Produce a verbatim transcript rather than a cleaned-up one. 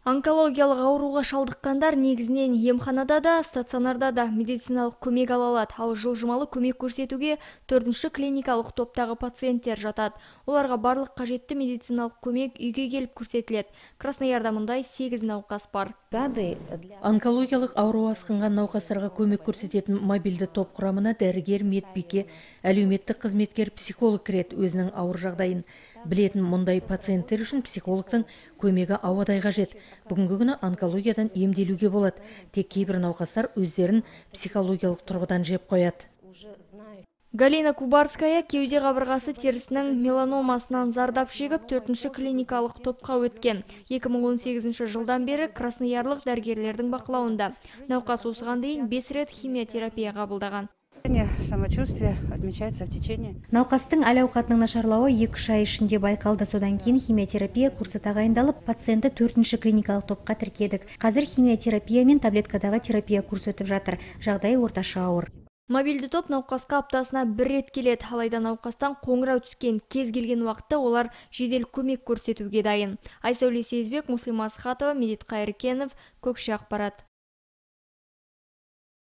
Онкологиялық ауруға шалдыққандар негізінен емханада да, стационарда да медициналық көмек ала алады, ал жылжымалы көмек көрсетуге төртінші клиникалық топтағы пациенттер жатады. Оларға барлық қажетті медициналық көмек үйге келіп көрсетіледі. Красноярда мұндай сегіз науқас бар. Онкологиялық ауру асқынған науқастарға көмек көрсететін мобильді топ құрамына дәрігер, медбике, әлеуметтік қызметкер, психолог кіреді. Өзінің ауыр жағдайын білетін мұндай пациенттер үшін психологтың көмегі ауадай қажет. Бүгінгі күні онкологиядан емделуге болады. Тек кейбір науқастар өздерін психологиялық тұрғыдан жеп қояды. Галина Кубарская кеуде қабырғасы терісінің меланомасынан зардап шегіп, төртінші клиникалық топқа өткен. екі мың он сегізінші жылдан бері красноярлық дәрігерлердің бақылауында. Науқас осыған дейін бес рет химиотерапия қабылдаған. Самочувствие отмечается в течение. Науқастың әл-ауқатының нашарлауы екі үш ай ішінде байқалды. Содан кейін химиотерапия курсы тағайындалып, пациентті төртінші клиникалық топқа тіркедік. Қазір химиотерапия мен таблеткадағы терапия курсы өтіп жатыр. Жағдайы орташа ауыр. Мобильді топ науқасқа аптасына бір рет келеді. Алайда науқастан қоңырау түскен кез келген уақытта олар жедел көмек көрсетуге дайын. Айсәуле Сезбек, Муслима Асхатова, Медет Қайыркенов, Көкше ақпарат.